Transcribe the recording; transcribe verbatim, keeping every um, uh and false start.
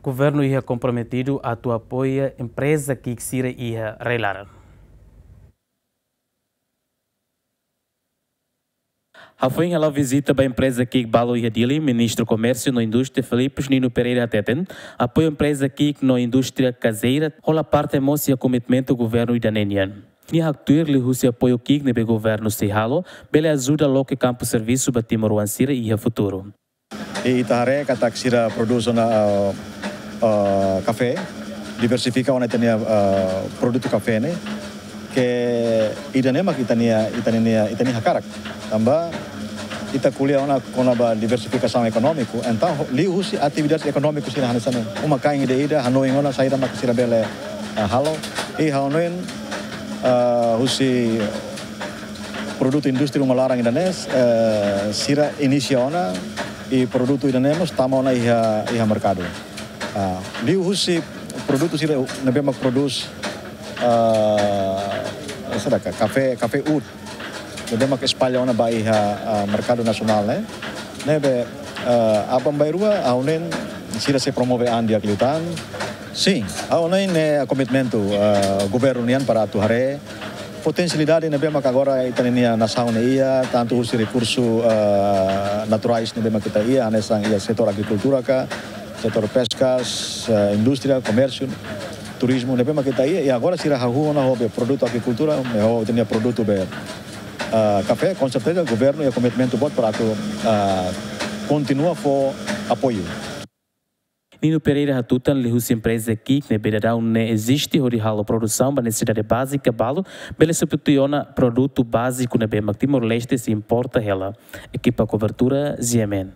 Governu iha komprometidu atu apoia empreza ki'ik sira iha rai-laran. Hafoin hala'o vizita ba empreza ki'ik balu iha Dili, Ministru Komérsiu no Indústria Filipus Nino Pereira hateten, apoiu empreza ki'ik no indústria kazeira hola parte mós iha komitmentu governu ida-ne'e nian. Nia haktuir liuhusi apoiu ki'ik ne'ebé governu sei halo, bele ajuda loke kampu servisu ba timoroan sira iha futuru. I ita haree katak sira prodús ona, ah, ah, kafé, diversifika ona ita-nia, ah, produtu kafé ne'e, ke ida-ne'e mak ita-nia, ita-nia, ita-nia hakarak. Tanba ita ko'alia ona kona-ba diversifikasaun ekonómiku, entaun ho-, liuhusi atividade ekonómiku sira hanesan ne'e. Uma-kain ida-idak hanoin ona saida mak sira bele, ah, halo. I ha'u hanoin, ah, husi produtu indústria uma laran ida-ne'e, eh, sira inisia ona i produtu ida-ne'e mós tama ona iha, iha merkadu. Ah, liuhusi produtu sira ne'ebé mak prodús, ah, saida ka, kafé, kafé uud. Ne'ebé mak espalla ona ba iha, ah, merkadu nasionál ne'e. Ne'ebé, ah, aban-bainrua, ha'u hanoin sira sei promove an di'ak liután. Sin, ha'u hanoin ne'e komitmentu, ah, governu nian para atu haree potensialidade ne'ebé mak agora ita-nia nasaun ne'e iha, tantu husi rekursu, ah, naturais ne'ebé mak ita iha, hanesan iha setór agrikultura ka, setór peskas, ah, indústria, komérsiu, turizmu ne'ebé mak ita iha, i agora sira hahú ona ho be produtu agrikultura, ne'e ho ita-nia produtu be, ah, kafé, com certeza governu iha komitmentu boot para atu, ah, kontinua fó apoiu. Nino Pereira hatutan liuhusi empreza ki'ik ne'ebé daudaun ne'e eziste hodi halo produsaun ba nesesidade bázika balu, bele substitui ona produtu báziku ne'ebé mak Timor-Leste sei importa hela. Ekipa kobertura, G M N.